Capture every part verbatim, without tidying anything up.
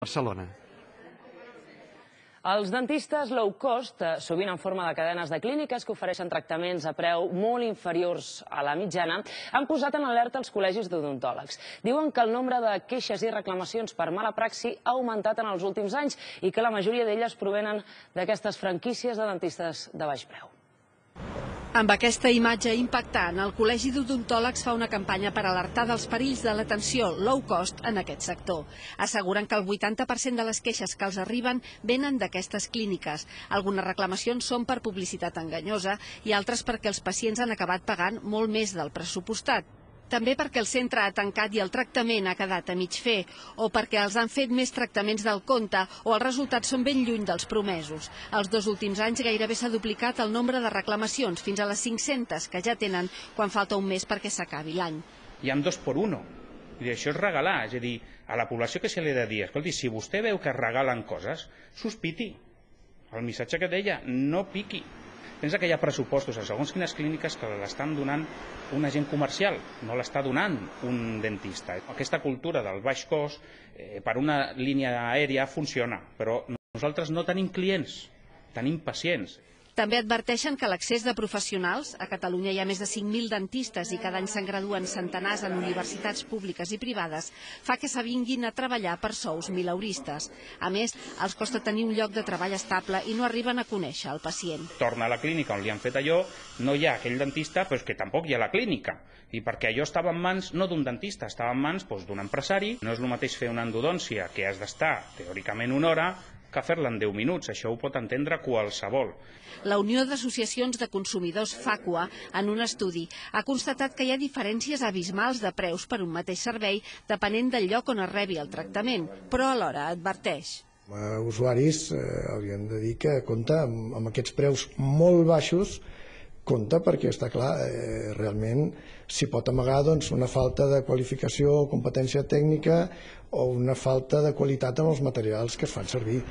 Barcelona. Els dentistes low cost, sovint en forma de cadenes de clíniques que ofereixen tractaments a preu molt inferiors a la mitjana, han posat en alerta els col·legis d'odontòlegs. Diuen que el nombre de queixes i reclamacions per mala praxi ha augmentat en els últims anys i que la majoria d'elles provenen d'aquestes franquícies de dentistes de baix preu. Amb aquesta imatge impactant, el Col·legi d'Odontòlegs fa una campanya per alertar dels perills de l'atenció low cost en aquest sector. Asseguren que el vuitanta per cent de les queixes que els arriben venen d'aquestes clíniques. Algunes reclamacions són per publicitat enganyosa i altres perquè els pacients han acabat pagant molt més del pressupostat. També perquè el centre ha tancat i el tractament ha quedat a mig fer, o perquè els han fet més tractaments del compte o els resultats són ben lluny dels promesos. Els dos últims anys gairebé s'ha duplicat el nombre de reclamacions, fins a les cinc-centes que ja tenen quan falta un mes perquè s'acabi l'any. Hi ha dos per uno. I això és regalar, és a dir, a la població que se li ha de dir, escolti, si vostè veu que es regalen coses, sospiti. El missatge que deia, no piqui. Pensa que hi ha pressupostos a segons quines clíniques que l'estan donant un agent comercial, no l'està donant un dentista. Aquesta cultura del baix cost eh, per una línia aèria funciona, però nosaltres no tenim clients, tenim pacients. També adverteixen que l'accés de professionals, a Catalunya hi ha més de cinc mil dentistes i cada any se'n graduen centenars en universitats públiques i privades, fa que s'avinguin a treballar per sous mileuristes. A més, els costa tenir un lloc de treball estable i no arriben a conèixer el pacient. Torna a la clínica on li han fet allò, no hi ha aquell dentista, però és que tampoc hi ha la clínica. I perquè allò estava en mans no d'un dentista, estava en mans doncs, d'un empresari. No és el mateix fer una endodòncia, que has d'estar teòricament una hora, que fer-la en deu minuts. Això ho pot entendre qualsevol. La Unió d'Associacions de Consumidors FACUA, en un estudi, ha constatat que hi ha diferències abismals de preus per un mateix servei depenent del lloc on es rebi el tractament, però alhora adverteix. Els usuaris eh, haurien de dir que compta amb, amb aquests preus molt baixos, compta perquè està clar, eh, realment s'hi pot amagar doncs, una falta de qualificació o competència tècnica o una falta de qualitat en els materials que es fan servir.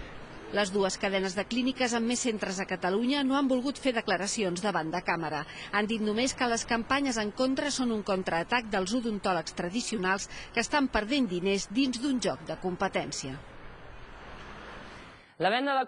Les dues cadenes de clíniques amb més centres a Catalunya no han volgut fer declaracions davant de càmera. Han dit només que les campanyes en contra són un contraatac dels odontòlegs tradicionals que estan perdent diners dins d'un joc de competència. La venda de